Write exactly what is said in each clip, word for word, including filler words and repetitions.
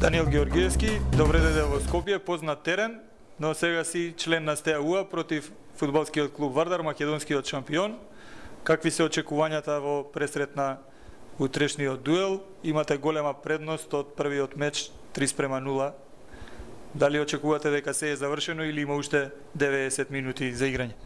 Даниел Георгиевски, добре дојде во Скопје, познат терен, но сега си член на СТЕАУ против фудбалскиот клуб Вардар, македонскиот шампион. Какви се очекувањата во пресрет на утрешниот дуел? Имате голема предност од првиот меч три спрема нула. Дали очекувате дека се е завршено или има уште деветдесет минути за играње?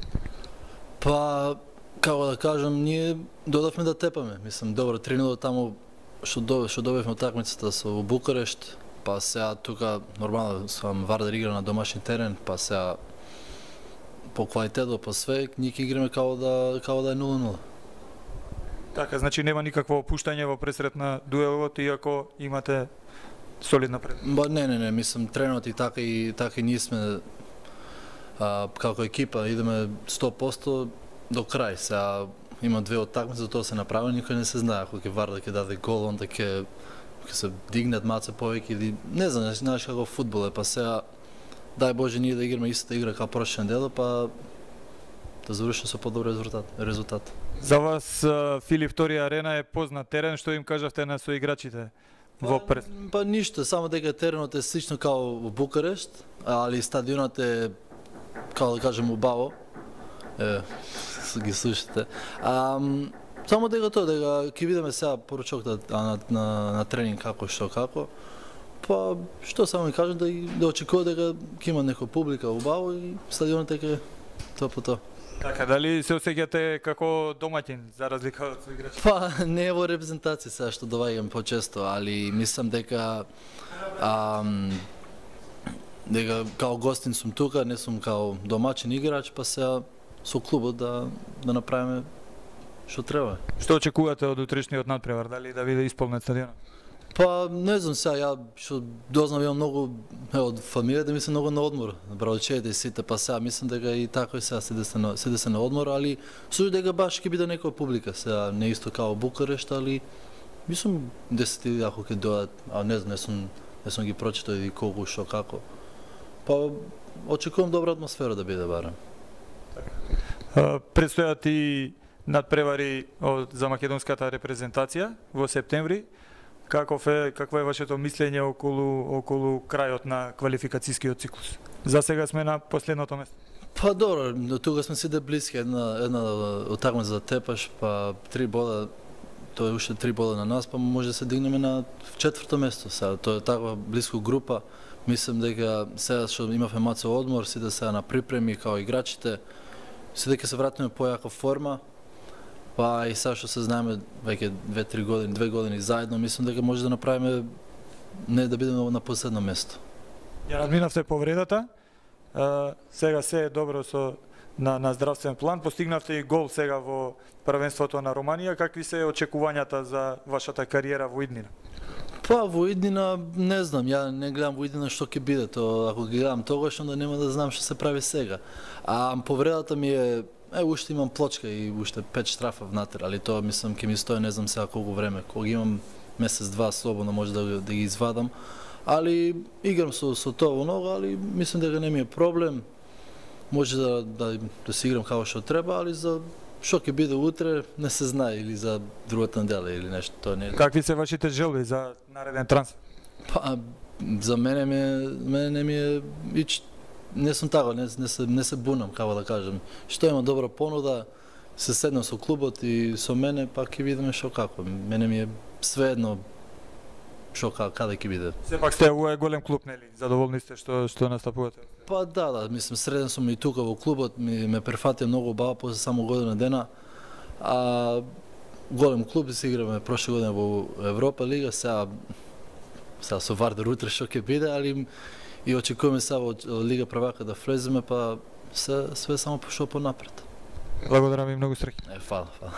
Па, како да кажам, ние додавме да тепаме. Мислам, добро, три нула таму што добив, што добивме утакмицата со Букурешт, па сега тука нормално сам Вардар игра на домашни терен, па сега по квалитето, по све, ние ќе играме како да како да е нула нула. Така, значи нема никакво опуштање во пресрет на дуелот, иако имате солидна предност. Ба не, не, не, мислам тренот и така и така и ние сме а, како екипа идеме сто проценти до крај. Сега има две утакмици, за тоа се направи, никој не се знае ако ќе Вардар ќе даде гол, онда ќе ќе се дигнат маце повеќе или не знам, знаеш како фудбал е, па сега дај Боже ние да играме истата игра како прошла недела, па да завршиме со подобар резултат. резултат. За вас Филип втори арена е познат терен, што им кажавте на соиграчите во прес? Па, па ништо, само дека теренот е слично како во Букурешт, али стадионот е како да кажем убаво. Е, ги слушате. А, само дека тоа, дека ќе видиме сега поручокта на, на, на тренинг како што како. Па што само ми кажам да да очекува дека ќе има некоја публика убаво и стадионот е тоа по тоа. Така, дали се осеќате како домаќин за разлика од соиграчите? Па не е во репрезентација сега што доаѓам почесто, али мислам дека ам, дека као гостин сум тука, не сум као домаќин играч, па сега со клубот да да направиме што треба. Што очекувате од утрешниот надпревар, дали да биде исполнет стадионот? Па не знам сега, ја што дознав имам многу од фамилијата ми се многу на одмор, браучете и сите, па сега мислам дека и така и сега седе се на седе се на одмор, али сушто дека баш ќе биде некоја публика, сега не исто како Букурешт, али мислам десет или ако ќе дојдат, а не знам, не сум не сум ги прочитал и колку што како. Па очекувам добра атмосфера да биде барем. Предстојат и надпревари од за македонската репрезентација во септември. Каков е какво е вашето мислење околу околу крајот на квалификацијскиот циклус? За сега сме на последното место. Па добро, до тука сме сите блиски, една една утакмица за тепаш, па три бода, тоа е уште три бода на нас, па може да се дигнеме на четврто место. Сега тоа е таква блиско група. Мислам дека сега што имавме маце одмор, сите сега на припреми као играчите, сите ќе се вратиме појака форма. Па и сега што се знаеме веќе две-три години, две години заедно, мислам дека може да направиме не да бидеме на последно место. Ја надминавте повредата. А, сега се е добро со на на здравствен план, постигнавте и гол сега во првенството на Романија. Какви се очекувањата за вашата кариера во иднина? Па во иднина не знам, ја не гледам во иднина што ќе биде, тоа ако ги гледам тогаш onda нема да знам што се прави сега. А повредата ми е Е, уште имам плочка и уште пет штрафа внатре, али тоа мислам ќе ми стои не знам сега колку време. Кога имам месец-два слободно може да, да ги извадам. Али играм со, со тоа во нога, али мислам дека не ми е проблем. Може да, да, да си играм како што треба, али за што ќе биде утре не се знае, или за другата недела или нешто, тоа не е. Какви се вашите желби за нареден трансфер? Па за мене ме мене не ми е ич не сум така, не, не, се, не се бунам, како да кажем. Што има добра понуда, се седнам со клубот и со мене, па ќе видиме што како. Мене ми е свеедно што каде ќе биде. Сепак сте ова е голем клуб, нели? Задоволни сте што што настапувате? Па да, да, мислам среден сум и тука во клубот, ми ме префатија многу убаво после само година дена. А голем клуб се играме прошла година во Европа лига, сега сега со Вардар утре што ќе биде, али и очекуваме сега во Лига првака да влеземе, па се све само пошо понапред. Благодарам ви многу, среќа. Е, фала, фала.